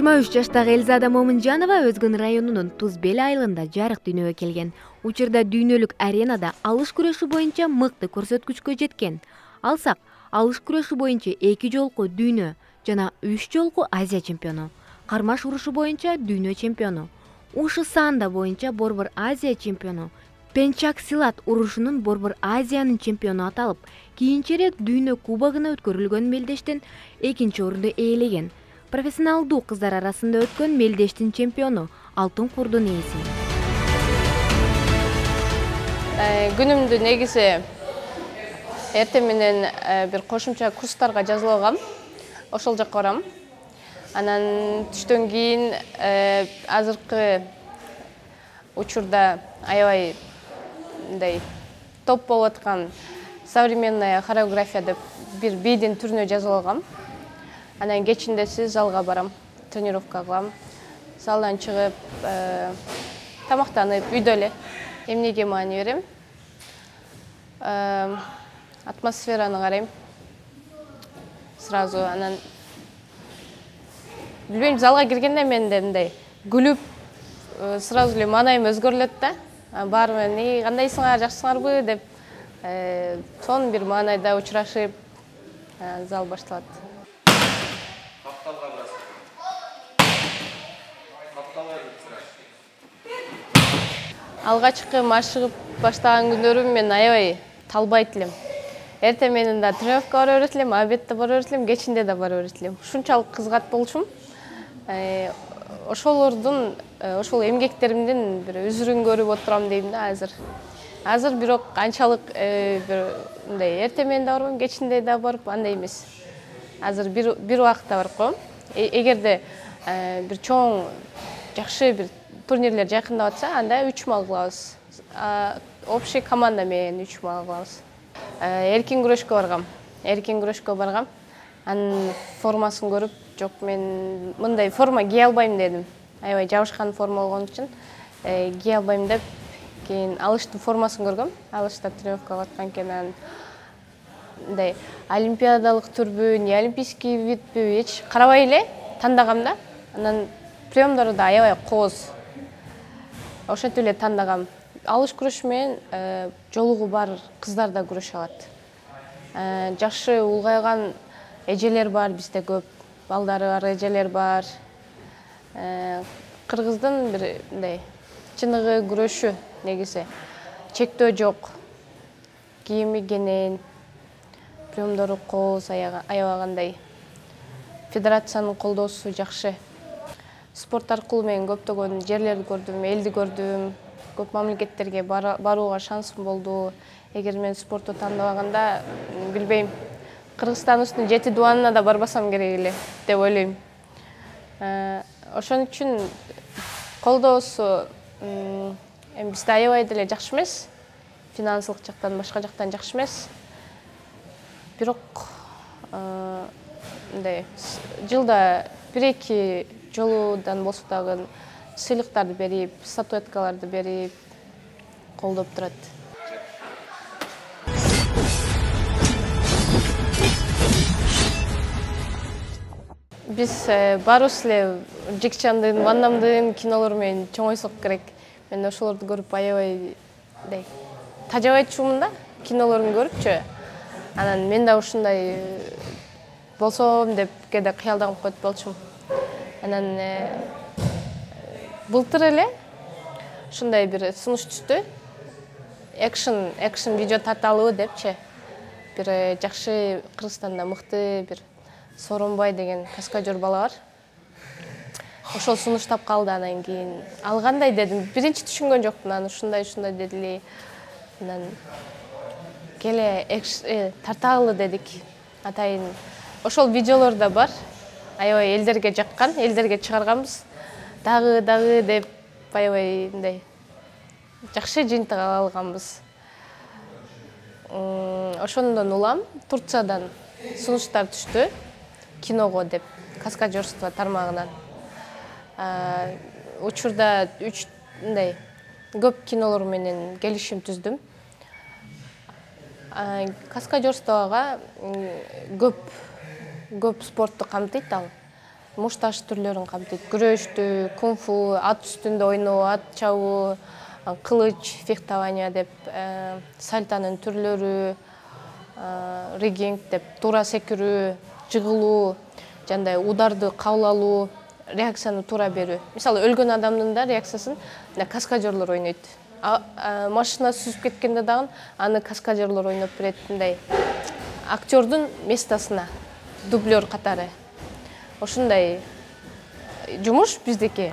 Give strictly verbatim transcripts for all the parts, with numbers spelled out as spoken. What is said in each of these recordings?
жыйырма үч жаштагы Элзада Момунжанова Өзгөн районунун Туз Бел айылында жарык дүйнөгө келген. Учурда дүйнөлүк аренада алыш күрөшү боюнча мыкты көрсөткүчкө жеткен. Алсак, алыш күрөшү боюнча эки жолку дүйнө жана үч жолку Азия чемпиону, кармаш урушу боюнча дүйнө чемпиону, ушу саанда боюнча борбор Азия чемпиону, пенчак силат урушунун борбор Азиянын чемпиону аталып, кийинчерээк дүйнө кубогуна өткөрүлгөн мелдештен экинчи орунду ээлеген. Профессионалдуу кыздар арасында өткөн мелдештин чемпиону, алтын курдун ээси. Күнүмдү негизи эртең менен бир кошумча курстарга жазылып алгам. Ошол жакка барам. Анан түштөн кийин азыркы учурда аябай мындай топ болуп аткан современная хореография деп бир бийдин түрүнө жазылып алгам. Анан кечиндеси залга барам, тренировка кылам. Залдан чыгып, тамактанып, үйдө эле эмнеге маани берем? Атмосфераны карайм. Сразу анан билбейм, залга киргенде менде мындай күлүп, сразу эле маанайым өзгөрүлөт да. Баары менен кандайсыңар, жакшысыңарбы деп, сонун бир маанайда учурашып, зал башталат. Алгачкы машыгып баштаган күндөрүм мен аябай талбайт элем. Эртең менен да тренировка бара берет элем, обедте бара берет элем, кечинде да бара берет элем. Ушунчалык кызгат болчумун. Ошолордун, ошол эмгектеримдин бир үзүрүн көрүп отурам дейм да азыр. Азыр бирок анчалык бир мындай эртең менен да барбайм, кечинде да барып андай эмес. Азыр бир бир убакытта барып коем. Эгерде бир чоң, жакшы бир турнирлер жакындап атса, анда үч мал кылабыз. Общий команда менен үч мал кылабыз. Эркин күрөшкө баргам. Эркин күрөшкө баргам. Анын формасын көрүп, жок, мен мындай форма кие албайм дедим. Аябай жабышкан форма болгон үчүн кие албайм деп, кийин алыштын формасын көргөм. Алышта тренировка кылып аткан экен. Мындай олимпиадалык түрбү, не олимпийский видпи, эч карабай эле тандагам да. Анан приемдору да аябай кооз. Ошентип эле тандагам. Алыш күрөшү менен жолугу бар кыздар да күрөшө алат. Жакшы улгайган эжелер бар, бизде көп балдары бар эжелер бар. Кыргыздын бир мындай чыныгы күрөшү негизи. Чектөө жок. Кийими кенен, приемдору кооз, аябагандай. Федерациянын колдоосу жакшы. Спорт аркылуу мен көптөгөн жерлерди көрдүм, элди көрдүм, көп мамлекеттерге барууга шансым болду. Эгер мен спортту тандабаганда, билбейм, Кыргызстандын жети дубанына да барбасам керек эле деп ойлойм. Ошон үчүн колдоосу бизде аябай деле жакшы эмес. Финансылык жактан, башка жактан жакшы эмес. Бирок мындай жылда бир-эки жолудан болсо дагы сыйлыктарды берип, статуэткаларды берип колдоп турат. Биз баарыбыз эле Жекчандын, Ван Дамдын кинолору менен чоңойсок керек. Мен ошолорду көрүп аябай мындай тажабайчумун да, кинолорун көрүпчү. Анан мен да ушундай болсом деп кээде кыялданып коет болчумун. Анан былтыр эле ушундай бир сунуш түштү. Экшн, экшн видео тарталыбы депчи. Бир жакшы Кыргызстанда мыкты бир Сооронбай деген каскадер бала бар. Ошол сунуштап калды, анан кийин алгандай дедим. Биринчи түшүнгөн жокмун, анан ушундай ушундай дедили. Анан келе тарталы дедик. Атайын ошол видеолор да бар. Аябай элдерге жаккан, элдерге чыгарганбыз. Дагы, дагы деп аябай мындай жакшы жыйынтык ала алганбыз. Ошондон улам Турциядан сунуштар түштү киного деп, каскадерство тармагынан. Учурда үч мындай көп кинолор менен келишим түздүм. Каскадерствого көп көп спортту камтыйт ал. мушташ түрлөрүн камтыйт. Күрөштү, кунг-фу, ат үстүндө ойноо, ат чабуу, кылыч, фехтование деп, сальтанын түрлөрү, ригинг деп, туура секирүү, жыгылуу, жандай ударды кабыл алуу, реакцияны туура берүү. Мисалы, өлгөн адамдын да реакциясын каскадерлор ойнойт. Машина сүзүп кеткенде дагы аны каскадерлор ойноп берет, мындай актёрдун местосуна, дублер катары. Ошундай жумуш биздики.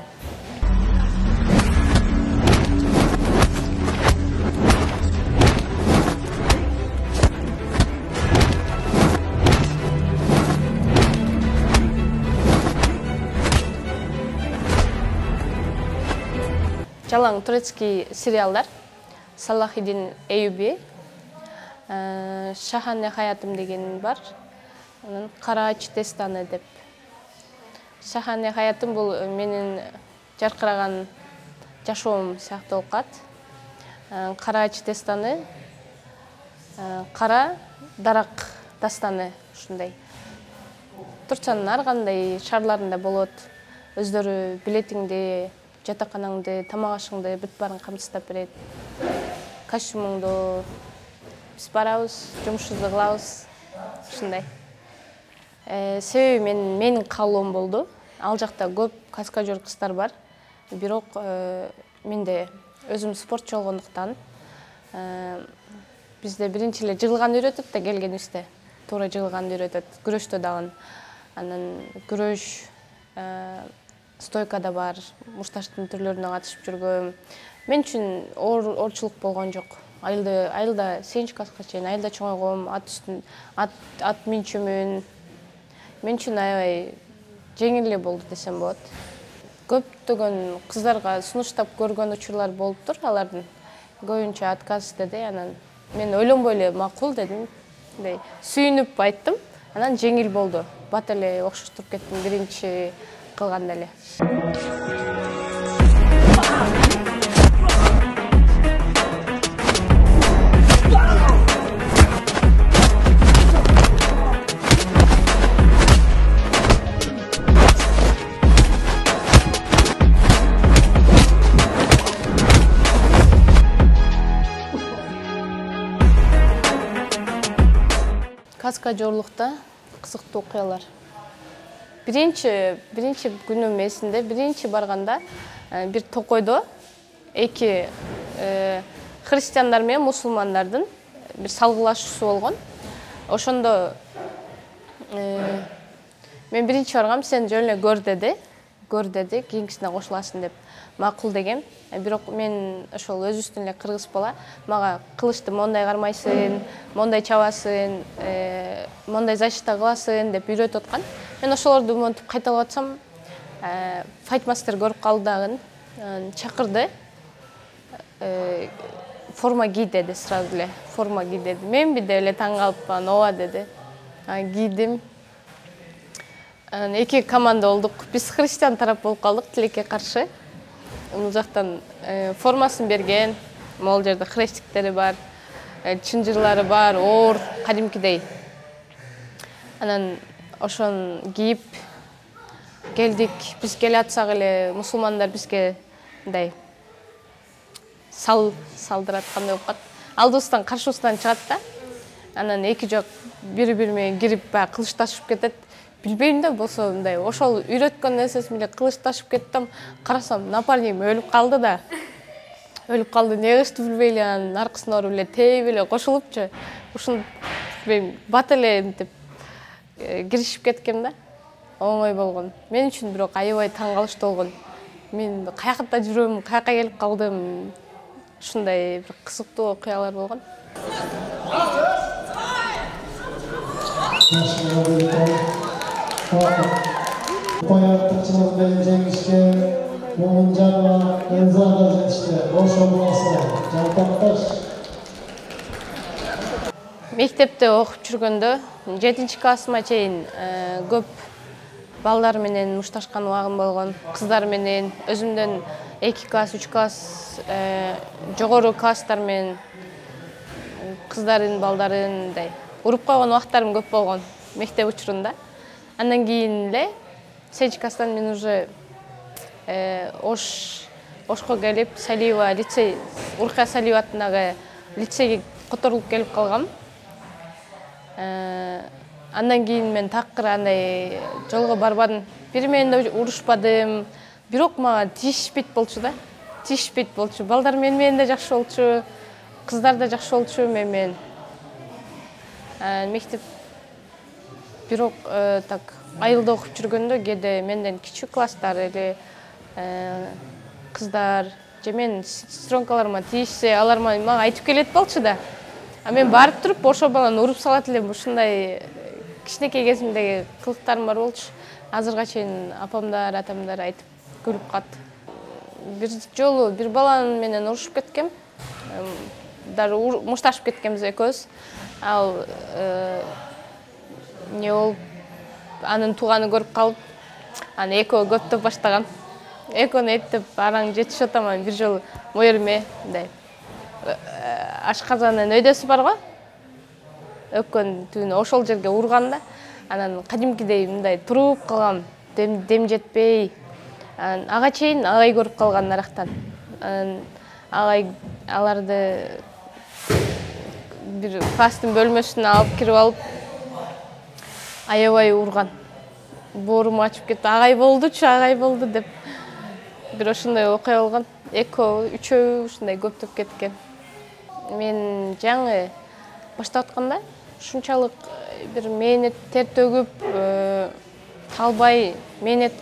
Жалаң турецкий сериалдар, Салахиддин Эйюби, Шахане хаятым деген бар, Караач дестаны деп. Шахане хаятым бул менин жаркыраган жашоом сыяктуу болуп калат. Караач дестаны, кара дарак дастаны ушундай. Турциянын ар кандай шаарларында болот. Өздөрү билетиңди, жатаканаңды, тамак ашыңды бүт баарын камсыздап берет. Костюмуңду биз барабыз, жумушубузду кылабыз. Ушундай. Себеби мен менин каалоом болду. Ал жакта көп каскадер кыздар бар. Бирок менде өзүм спортчу болгондуктан бизде биринчи эле жыгылганды үйрөтөт да келгенибизде. Туура жыгылганды үйрөтөт. Күрөштө дагы анан күрөш, стойкада бар, мушташтын түрлөрүнө катышып жүргөм. Мен үчүн оорчулук болгон жок. Айылда айылда сегизинчи класска чейин айылда чоңойгом, ат үстүн ат ат минчүмүн. Мен үчүн аябай жеңил эле болду десем болот. Көптөгөн кыздарга сунуштап көргөн учурлар болуптур, алардын көбүнчө отказ деди. Анан мен ойлонбой эле макул дедим. Мындай сүйүнүп айттым. Анан жеңил болду. Бат эле окшоштуруп кеттим биринчи кылганда эле. Каскадерлукта кызыктуу окуялар. Биринчи биринчи күнүм эсимде, биринчи барганда бир токойдо эки христиандар менен мусулмандардын бир салгылашуусу болгон. Ошондо мен биринчи баргам, сен жөн эле көр деди. Көр деди, кийинкисине кошуласың деп макул дегем. Бирок мен ошол өзүбүздүн эле кыргыз бала мага кылычты мондай кармайсың, мондай чабасың, мондай защита кыласың деп үйрөтүп аткан. Мен ошолорду монтип кайталап атсам, файтмастер көрүп калды дагы, чакырды. Форма ки деди, сразу эле форма ки деди. Мен бир эле таң калыпман, ооба деди. Кийдим. Эки команда болдук. Биз христиан тарап болуп калдык, тилекке каршы. Бул жактан формасын берген, могул жерде хрестиктери бар, чынжырлары бар, оор, кадимкидей. Анан ошон кийип келдик. Биз келе атсак эле мусулмандар бизге мындай сал салдырат, кандай болуп калат. Алдыбыздан каршыбыздан чыгат да. Анан эки жак бири-бири менен кирип баягы кылычташып кетет. Билбейм да, болсо мындай ошол үйрөткөн нерсесин эле кылычташып кеттим. Карасам, напарнигим өлүп калды да. Өлүп калды, эмне кылышты билбей эле анын аркасына барып эле тээп эле кошулупчу. Ушун мен бат эле мынтип киришип кеткем да. Оңой болгон. Мен үчүн бирок аябай таң калыштуу болгон. Мен каякта жүрөм, каяка келип калдым. Ушундай бир кызыктуу окуялар болгон. Артыкчылык менен жеңишке Момунжанова Элзада жетишти. Ошо буласы жалпакташ. Мектепте окуп жүргөндө жетинчи классыма чейин көп балдар менен мушташкан убагым болгон. Кыздар менен өзүмдөн эки класс, үч класс жогору класстар менен кыздарын, балдарын уруп койгон убактарым көп болгон мектеп учурунда. Андан кийин эле Сечкастан мен уже Ош Ошко келип, Салиева лицей, Уркая Салиева атындагы лицейге которулуп келип калгам. Андан кийин мен такыр андай жолго барбадым. Бир менен да урушпадым. Бирок мага тиешпейт болчу да. Тиешпейт болчу. Балдар мен менен да жакшы болчу. Кыздар да жакшы болчу мен менен. Мектеп бирок так айылда окуп жүргөндө кээде менден кичүү класстар эле кыздар же менин сестренкаларыма тийишсе, алар мага айтып келет болчу да. А мен барып туруп ошо баланы уруп салат элем. Ушундай кичинекей кезимдеги кылыктарым бар болчу. Азырга чейин апамдар, атамдар айтып күлүп калат. Бир жолу бир баланы менен урушуп кеткем. Даже мушташып кеткенбиз экөөбүз. Ал не болуп, анын тууганы көрүп калып, аны экөө көптөп баштаган. Экөөнү эптеп араң жетишип атаман бир жолу моериме мындай ашказанын өйдөсү бар го. Өккөн түбүнө ошол жерге урган да. Анан кадимкидей мындай туруп калгам, дем жетпей. Анан ага чейин агай көрүп калган нарактан. Агай аларды бир класстын бөлмөсүнө алып кирип алып, аябай урган. Боорум ачып кетти. Агай болдучу, агай болду деп. Бир ошондой окуя болгон. Экөө, үчөө ушундай көптөп кеткен. Мен жаңы баштап атканда ушунчалык бир мээнет тер төгүп, талбай мээнет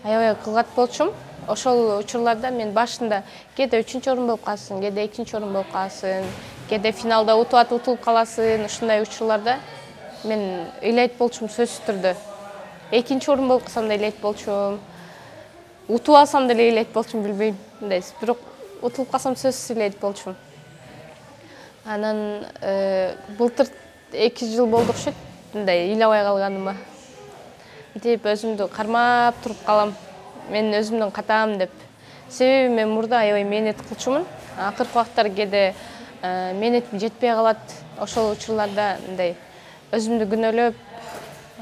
аябай кылгат болчумун. Ошол учурларда мен башында кээде үчүнчү орун болуп каласың, кээде экинчи орун болуп каласың, кээде финалда утуп атып утулуп каласың. Ушундай учурларда мен ыйлайт болчумун сөзсүз түрдө. Экинчи орун болуп калсам да ыйлайт болчумун. Утуп алсам деле ыйлайт болчумун, билбейм. Мындай, бирок утулуп калсам сөзсүз ыйлайт болчумун. Анан былтыр эки жыл болду окшойт, мындай ыйлабай калганыма. Мынтип өзүмдү кармап туруп калам. Мен өзүмдүн катаам деп. Себеби мен мурда аябай мээнет кылчумун. Акыркы убактар кээде мээнетим жетпей калат. Ошол учурларда мындай өзүмдү күнөөлөп,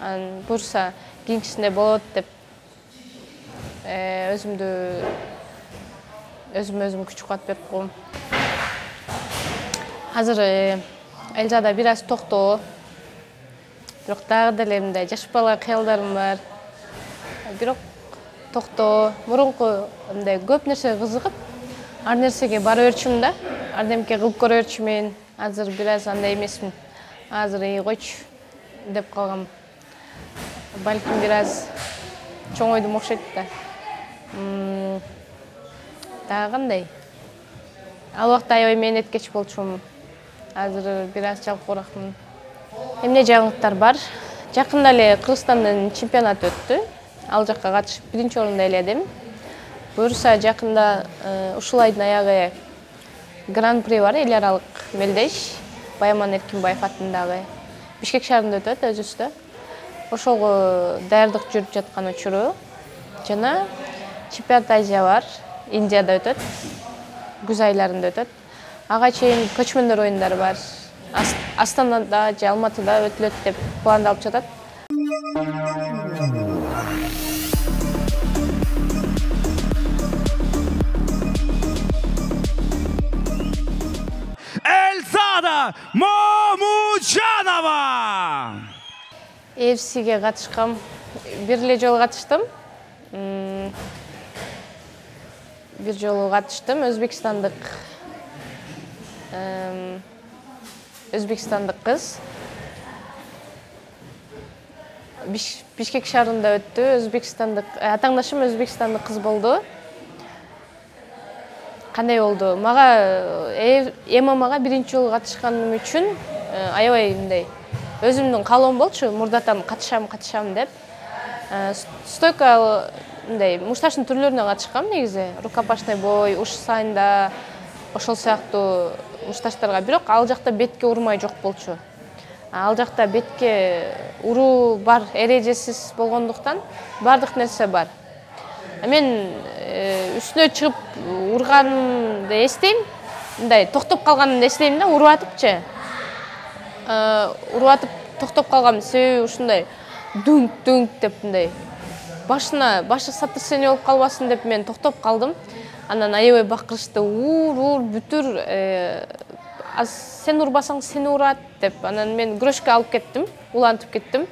анан буюрса кийинкисинде болот деп өзүмдү өзүм өзүм күч кубат берип коем. Азыр Элжада бир аз токтоо. Бирок дагы деле мындай жаш бала кыялдарым бар. Бирок токтоо. Мурунку мындай көп нерсеге кызыгып, ар нерсеге бара берчүмүн да. Ардемке кылып көрө берчүмүн. Азыр бир аз андай эмесмин. Азыр эй койчу деп калгам. Балким бир аз чоңойдум окшойт да. Дагы кандай? Ал убакта аябай мээнеткеч болчумун. Азыр бир аз жалкооракмын. Эмне жаңылыктар бар? Жакында эле Кыргызстандын чемпионаты өттү. Ал жакка катышып биринчи орунду ээледим. Буюрса жакында ушул айдын аягы гран-при бар, эл аралык мелдеш. Баяман Эркинбаев атындагы Бишкек шаарында өтөт өзүбүздө. Ошого даярдык жүрүп жаткан учуру. Жана чемпионат Азия бар, Индияда өтөт. Күз айларында өтөт. Ага чейин көчмөндөр оюндары бар. Астанада же Алматыда өтүлөт деп пландалып жатат. Эльзада Момучанова! эй эф сиге катышкам. Бир эле жолу катыштым. Бир жолу катыштым. Өзбекстандык Өзбекстандык кыз. Бишкек шаарында өттү. Өзбекстандык атаңдашым Өзбекстандык кыз болду. Кандай болду? Мага эм эм ага биринчи жолу катышканым үчүн аябай мындай өзүмдүн каалоом болчу. Мурдатан катышам, катышам деп. Стойка мындай мушташтын түрлөрүнө катышкам негизи. Рукопашный бой, уш сайында ошол сыяктуу мушташтарга. Бирок ал жакта бетке урмай жок болчу. Ал жакта бетке уруу бар, эрежесиз болгондуктан бардык нерсе бар. Мен үстүнө чыгып урганымды эстейм. Мындай токтоп калганымды эстейм да, уруп атыпчы. Уруп атып токтоп калгам себеби ушундай дүңк дүңк деп мындай башына башы сотрясение болуп калбасын деп мен токтоп калдым. Анан аябай бакырышты, уур уур бүтүр, аз сен урбасаң сени урат деп. Анан мен күрөшкө алып кеттим, улантып кеттим.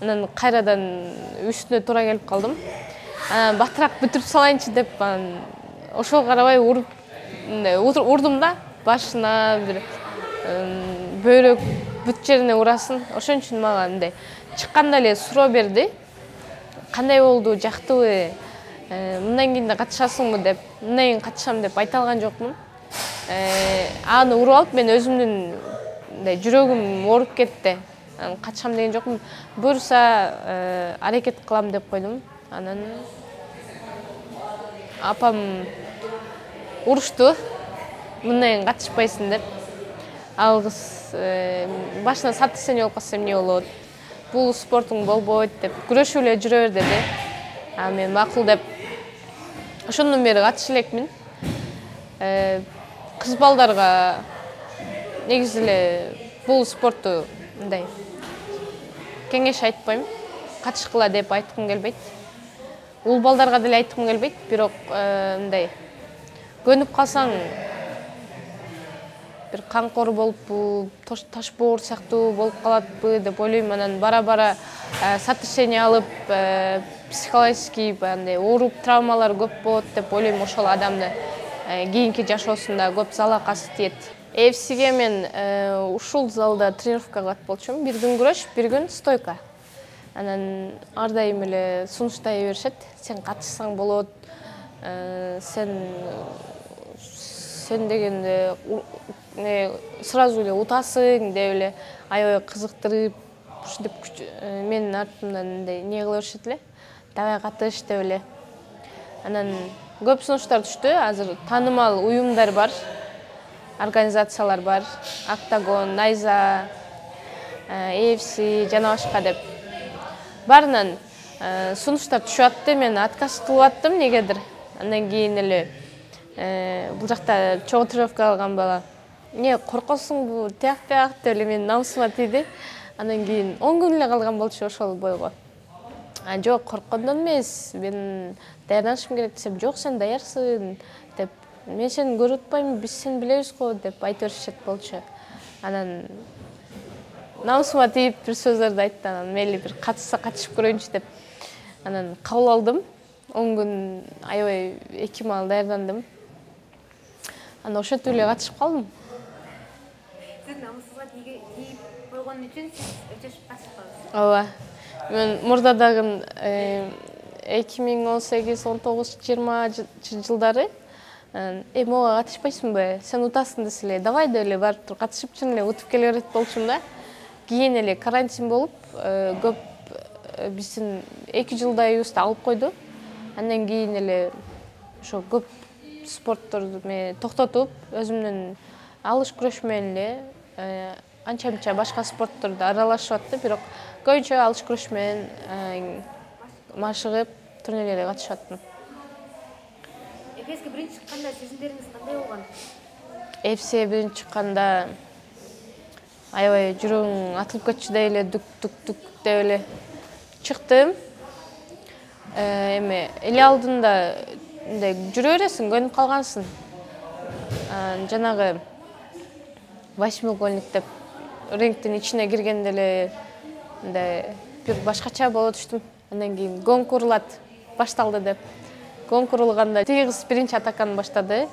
Анан кайрадан үстүнө туура келип калдым. Анан батыраак бүтүрүп салайынчы деп анан ошого карабай уруп урдум да, башына бир бөйрөк бүт жерине урасын. Ошон үчүн мага мындай чыкканда эле суроо берди. Кандай болду, жактыбы? Мындан кийин да катышасыңбы деп, мындан кийин катышам деп айта алган жокмун. Аны уруп алып мен өзүмдүн мындай жүрөгүм ооруп кетти. Катышам деген жокмун. Буюрса аракет кылам деп койдум. Анан апам урушту. Мындан кийин катышпайсың деп. Ал кыз башына сотрясение болуп калса эмне болот? Бул спортуң болбойт деп, күрөшүп эле жүрө бер деди. А мен макул деп ошондон бери катыша элекмин. Кыз балдарга негизи эле бул спортту мындай кеңеш айтпайм. Катышкыла деп айткым келбейт. Ул балдарга деле айткым келбейт, бирок мындай көнүп калсаң бир камкор болуппу, таш боор сыяктуу болуп калатпы деп ойлойм. Анан бара-бара сотрясение алып, психологический андай ооруп, травмалар көп болот деп ойлойм. Ошол адамды кийинки жашоосунда көп залакасы тиет. эй эф сиге мен ушул залда тренировка кылат болчумун. Бир күн күрөш, бир күн стойка. Анан ар дайым эле сунуштай беришет. Сен катышсаң болот. Сен сен дегенде сразу эле утасың деп эле аябай кызыктырып, ушинтип менин артымдан мындай не кыла беришет эле. Давай катыш деп эле. Анан көп сунуштар түштү. Азыр таанымал уюмдар бар, организациялар бар. Октагон, Найза, эй эф си жана башка деп. Барынан сунуштар түшүп атты. Мен отказ кылып аттым негедир. Андан кийин эле бул жакта чоң тренировка алган бала не коркосуңбу, тияк бияк деп эле менин намысыма тийди. Андан кийин он күн эле калган болчу ошол бойго. А жок, корккондон эмес, мен даярданышым керек десем, жок сен даярсың деп. Мен сени көрүп атпаймынбы, биз сени билебиз го деп айта беришет болчу. Анан намысыма тийип бир сөздөрдү айтты. Анан мейли бир катышса катышып көрөйүнчү деп. Анан кабыл алдым. он күн аябай эки маал даярдандым. Анан ошентип эле катышып калдым. Сиз намысыңызга тийип койгон үчүн сиз өчөшүп катышып калдыңыз. Ооба. Мен мурда дагы эки миң он сегиз, он тогуз, жыйырма жылдары э мога катышпайсыңбы? Сен утасың десе эле, давай деп эле барып туруп катышып чын эле утуп келе берет болчумун да. Кийин эле карантин болуп, көп биздин эки жылдайыбызды алып койду. Андан кийин эле ошо көп спортторду мен токтотуп, өзүмдүн алыш күрөш менен эле анча-мынча башка спортторду аралашып атты, бирок көбүнчө алыш күрөш менен машыгып, турнирлерге катышып аттым. эй эф сиге биринчи чыкканда сезимдериңиз кандай болгон? эй эф сиге биринчи чыкканда аябай жүрөгүң атылып кетчү деп эле дүк-дүк-дүк деп эле чыктым. Эме эле алдында мындай жүрө бересиң, көнүп калгансың. Жанагы восьмиугольник деп рингдин ичине киргенде эле мындай бир башкача боло түштүм. Андан кийин гонг урулат башталды деп. Гонг урулганда тиги кыз биринчи атаканы баштады.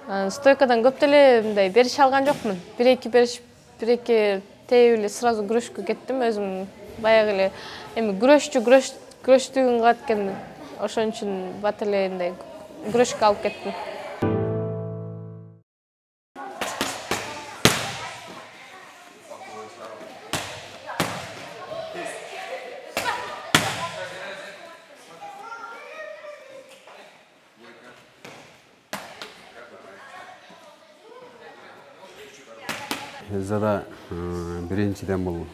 Стойкадан көп деле мындай бериш алган жокмун. бир-эки бериш, бир-эки тээп эле сразу күрөшкө кеттим. Өзүм баягы эле эми күрөшчү күрөш күрөштүгүн кылат экенмин. Ошон үчүн бат эле мындай күрөшкө алып кеттим. Элзада биринчиден бул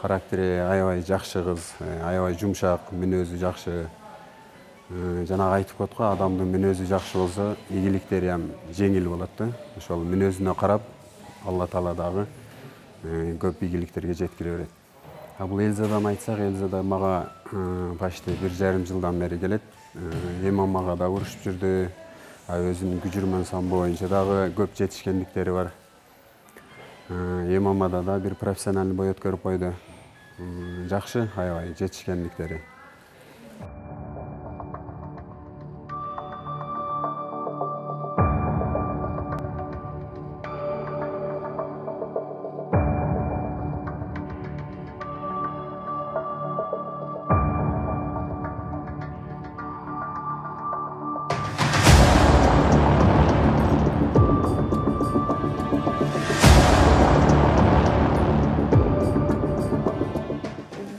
характери аябай жакшы кыз, аябай жумшак, мүнөзү жакшы. Жанагы айтып коет го, адамдын мүнөзү жакшы болсо, ийгиликтери ham жеңил болот да. Ошол мүнөзүнө карап, Алла Таала дагы көп ийгиликтерге жеткире берет. Бул Элзадан айтсак, Элзада мага почти бир жарым жылдан бери келет. Эмамага да урушуп жүрдү. Өзүнүн күжүрмөн самбо боюнча дагы көп жетишкендиктери бар. Эмамада да бир профессиональный бой өткөрүп койду. Жакшы, аябай жетишкендиктери.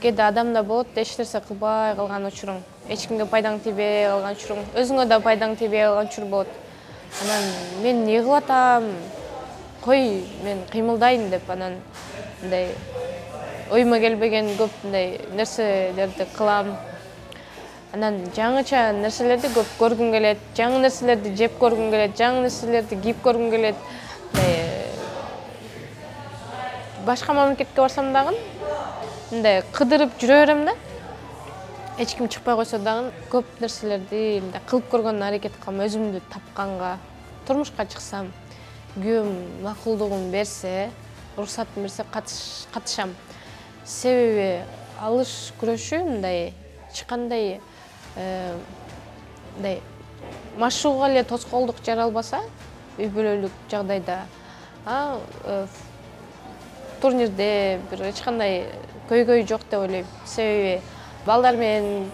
Кээде адамда болот, эч нерсе кылбай калган учуруң, эч кимге пайдаң тийбей калган учуруң, өзүңө да пайдаң тийбей калган учур болот. Анан мен эмне кылып атам? Кой, мен кыймылдайын деп анан мындай оюма келбеген көп мындай нерселерди кылам. Анан жаңыча нерселерди көп көргүм келет, жаңы нерселерди жеп көргүм келет, жаңы нерселерди кийип көргүм келет. Башка мамлекетке барсам дагы мындай кыдырып жүрө берем да. Эч ким чыкпай койсо дагы көп нерселерди мындай кылып көргөнгө аракет кылам, өзүмдү тапканга. Турмушка чыксам, күйөөм макулдугун берсе, уруксатын берсе катышам. Себеби алыш күрөшү мындай эч кандай мындай машыгууга эле тоскоолдук жаралбаса, үй бүлөлүк жагдайда, а турнирде бир эч кандай көйгөй жок деп ойлойм. Себеби балдар менен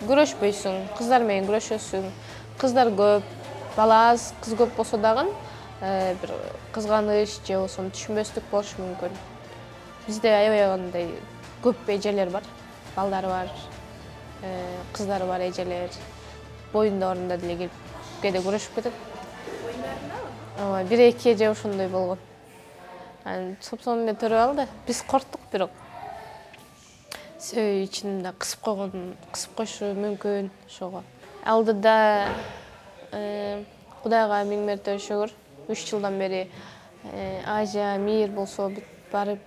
күрөшпөйсүң, кыздар менен күрөшөсүң. Кыздар көп, бала аз, кыз көп болсо дагы бир кызганыч же болбосо түшүнбөстүк болушу мүмкүн. Бизде аябай андай көп эжелер бар, балдары бар, кыздары бар эжелер. Боюндарында деле келип кээде күрөшүп кетет. Боюндарындабы? Бир эки эже ошондой болгон. Анан сопсону эле төрөп алды. Биз корктук бирок. Себеби ичинде кысып койгон, кысып коюшу мүмкүн ошого. Алдыда Кудайга миң мерте шүгүр, үч жылдан бери Азия, мир болсо бүт барып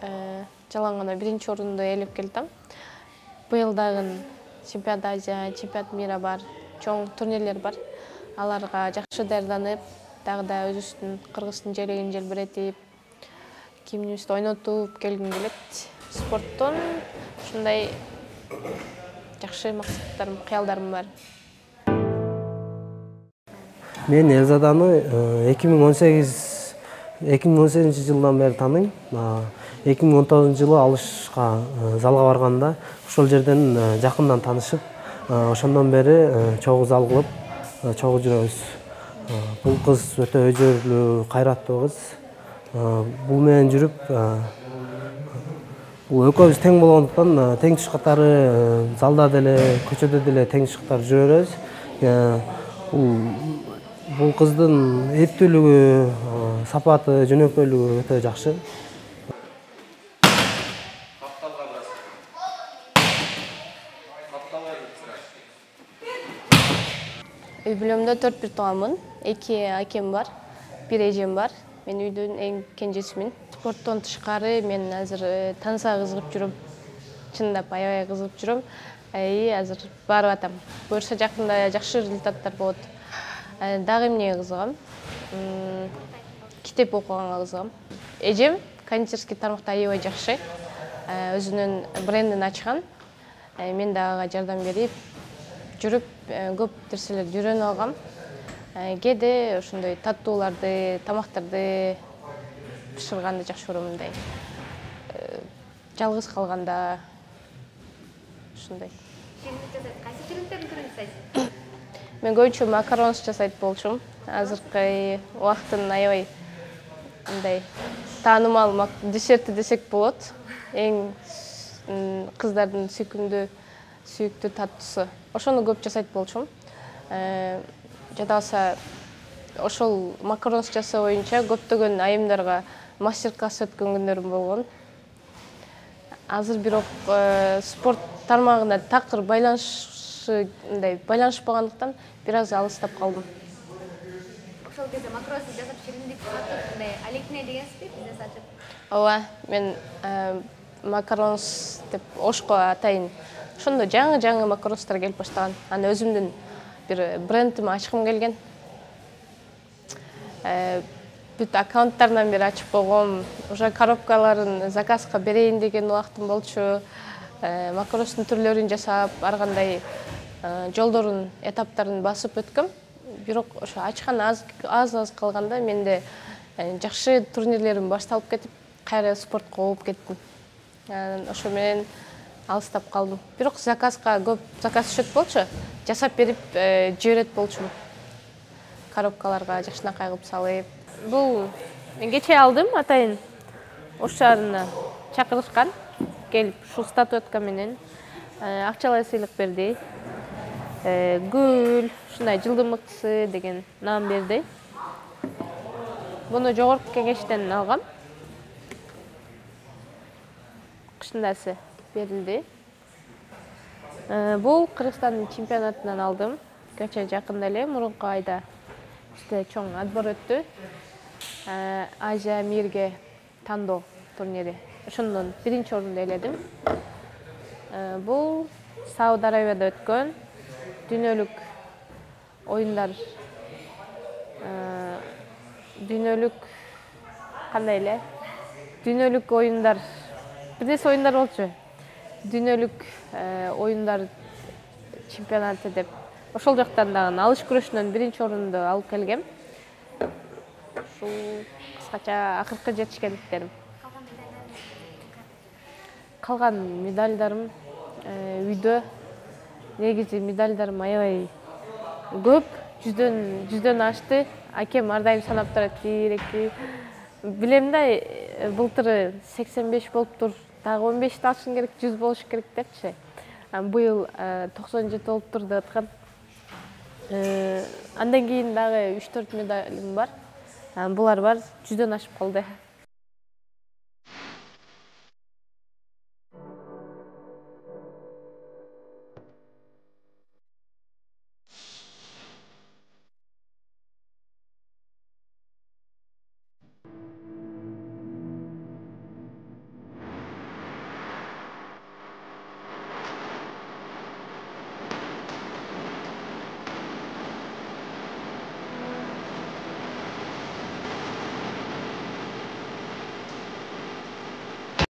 жалаң гана биринчи орунду ээлеп келатам. Быйыл дагы чемпионат Азия, чемпионат мира бар, чоң турнирлер бар. Аларга жакшы даярданып, дагы да өзүбүздүн Кыргыздын желегин желбиретип, кимибизди ойнотуп келгим келет. Спорттон ушундай жакшы максаттарым, кыялдарым бар. Мен Элзаданы эки миң он сегизинчи жылдан бери тааныйм. эки миң он тогузунчу жылы алышка залга барганда ошол жерден жакындан таанышып, ошондон бери чогуу зал кылып, чогуу жүрөбүз. Бул кыз өтө өжөрлүү, кайраттуу кыз. Бул менен жүрүп, бул экөөбүз тең болгондуктан тең туш катары залда деле, көчөдө деле тең туш катары жүрө беребиз. Бул кыздын эптүүлүгү, сапаты, жөнөкөйлүгү өтө жакшы. Үй бүлөмдө төрт бир тууганмын, эки акем бар, бир эжем бар. Мен үйдүн эң кенжесимин. Спорттон тышкары мен азыр танса кызыгып жүрөм. Чындап аябай кызыгып жүрөм. И азыр барып атам. Буюрса жакында жакшы результаттар болот. Дагы эмнеге кызыгам? Китеп окуганга кызыгам. Эжем кондитерский тармакта аябай жакшы. Өзүнүн брендин ачкан. Мен дагы ага жардам берип жүрүп, көп нерселерди үйрөнүп алгам. Кээде ошондой таттууларды, тамактарды бышырганды жакшы көрөм, мындай. Жалгыз калганда ушундай. Кайсы чирктердин түрүн жасайсыз? Мен көбүнчө макарон жасайт болчумун. Азыркы убакыттын аябай мындай таанымал десерти десек болот. Эң кыздардын сүйкүмдүү, сүйүктүү таттуусу. Ошону көп жасайт болчумун. Жада болсо ошол макарон жасоо боюнча көптөгөн айымдарга мастер-класс өткөн күндөрүм болгон. Азыр бирок спорт тармагына такыр байланышы мындай байланышпагандыктан бир аз алыстап калдым. Ошол кезде макарон жасап чиримдик сатып, мындай алектине дегенсизби, бизнес ачып? Ооба, мен макаронс деп ошко атайын. Ошондо жаңы жаңы макаронстар келип баштаган. Аны өзүмдүн бир брендими ачкым келген. Бүт аккаунттардан бери ачып койгом. Уже коробкаларын заказга берейин деген убактым болчу. Макаронстун түрлөрүн жасап, ар кандай жолдорун, этаптарын басып өткөм. Бирок ошо ачкан аз аз калганда менде жакшы турнирлерим башталып кетип, кайра спортко ооп кеттим. Ошо менен алыстап калдым. Бирок заказга көп заказ түшөт болчу, жасап берип жиберет болчумун. Коробкаларга жакшынакай кылып салып. Бул мен кечээ алдым, атайын Ош шаарына чакырышкан, келип ушул статуэтка менен акчалай сыйлык берди. Гүл, ушундай жылдын мыктысы деген наам берди. Буну жогорку кеңештен алгам. Кышындасы берилди. Бул Кыргызстандын чемпионатынан алдым. Кече жакында эле мурунку айда иште чоң отбор өттү. Азия мирге тандоо турнири. Ошондон биринчи орунду ээледим. Бул Сауд Арабияда өткөн дүйнөлүк оюндар. Дүйнөлүк кандай эле? Дүйнөлүк оюндар. Бирнесе оюндар болчу. Дүйнөлүк оюндар чемпионаты деп. Ошол жактан дагы алыш күрөшүнөн биринчи орунду алып келгем. Ушул кыскача акыркы жетишкендиктерим. Калган медальдарым үйдө. Негизи медальдарым аябай көп, жүздөн жүздөн ашты. Акем ар дайым санап турат, бир эки. Билем да, былтыр сексен беш болуптур. Дагы он бешти алышың керек, жүз болуш керек депчи. Быйыл токсон жети болуптур деп аткан. Андан кийин дагы үч төрт медалим бар. Булар бар, жүздөн ашып калды.